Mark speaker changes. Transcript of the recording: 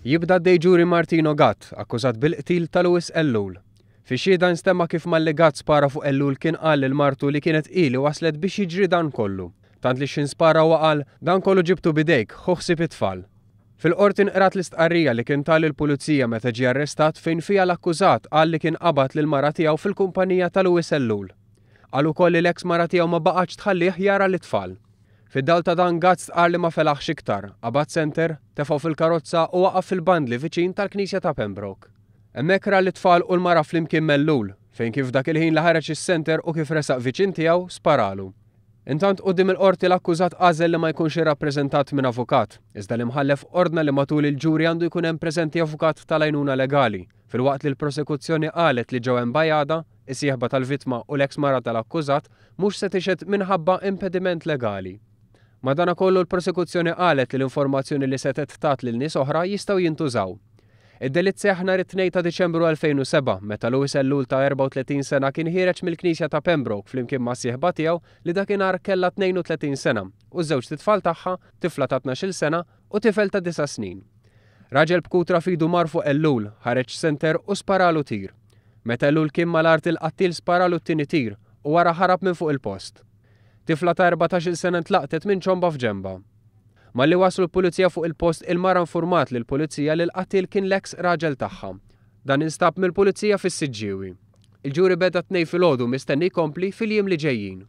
Speaker 1: Jibda għaddej ġuri Martino Gatt, akkużat bil-qtil ta' Louis Ellul. Fix-xhieda nstema' kif malli Gatt spara fuq Ellul kien qal lil martu li kienet hi li waslet biex jiġri dan kollu. Tant li x'ħin spara huwa qal, Dan kollu ġibtu b'idejk, ħu ħsieb it-tfal. Fil-Qorti nqrat l-istqarrija li kien ta lill-Pulizija meta ġie arrestat fejn fiha l-akkużat qal li kien qabad lill-mara tiegħu fil-kumpanija ta' Louis Ellul. Qal ukoll li l-eks mara tiegħu ma baqgħetx tħallih jara lit-tfal. Fid-dawl ta' dan Gatt stqarr li ma felaħx iktar, qabad senter, tefgħu fil-karozza u waqaf fil-bandli viċin tal-knisja ta' Pembroke. Hemmhekk ra lit-tfal u l-mara flimkien m'Ellul, fejn kif dak il-ħin li ħareġ is-senter u kif resaq viċin tiegħu, sparalu. Intant quddiem il-Qorti l-akkużat għażel li ma jkunx irrappreżentat minn avukat, iżda l-Imħallef ordna li matul il-ġuri għandu jkun hemm preżenti avukat tal-għajnuna legali, filwaqt li l-prosekuzzjoni qalet li Joanne Bajada, is-sieħba tal-vittma u l-eks mara tal-akkużat, mhux se tixhed minħabba impediment legali. Madanakollu l-prosekuzzjoni qalet li l-informazzjoni li setgħet tat lil nies oħra jistgħu jintużaw. Id-delitt seħħ nhar it-Tnejn ta' Diċembru 2007 meta Louis Ellul ta' 34 sena kien ħiereġ mill-knisja ta' Pembroke flimkien mas-sieħba tiegħu li dakinhar kellha 32 sena u ż-żewġt itfal tagħha, tifla ta' 12-il sena u tifel ta' disa' snin. Raġel b'kutra f'idu mar fuq Ellul, ħareġ senter u sparalu tir. Meta Ellul kien mal-art il-qattiel sparalu t-tieni tir u wara ħarab minn fuq il-post. Tifla ta' 14-il sena ntlaqtet minn ċomba f'ġenbha. Malli waslu l-Pulizija fuq il-post il-mara nfurmat lill-Pulizija li l-qattiel kien l-eks raġel tagħha. Dan instab mill-Pulizija fis-Siġġiewi. Il-ġuri beda t-Tnejn filgħodu mistenni jkompli fil-jiem li ġejjin.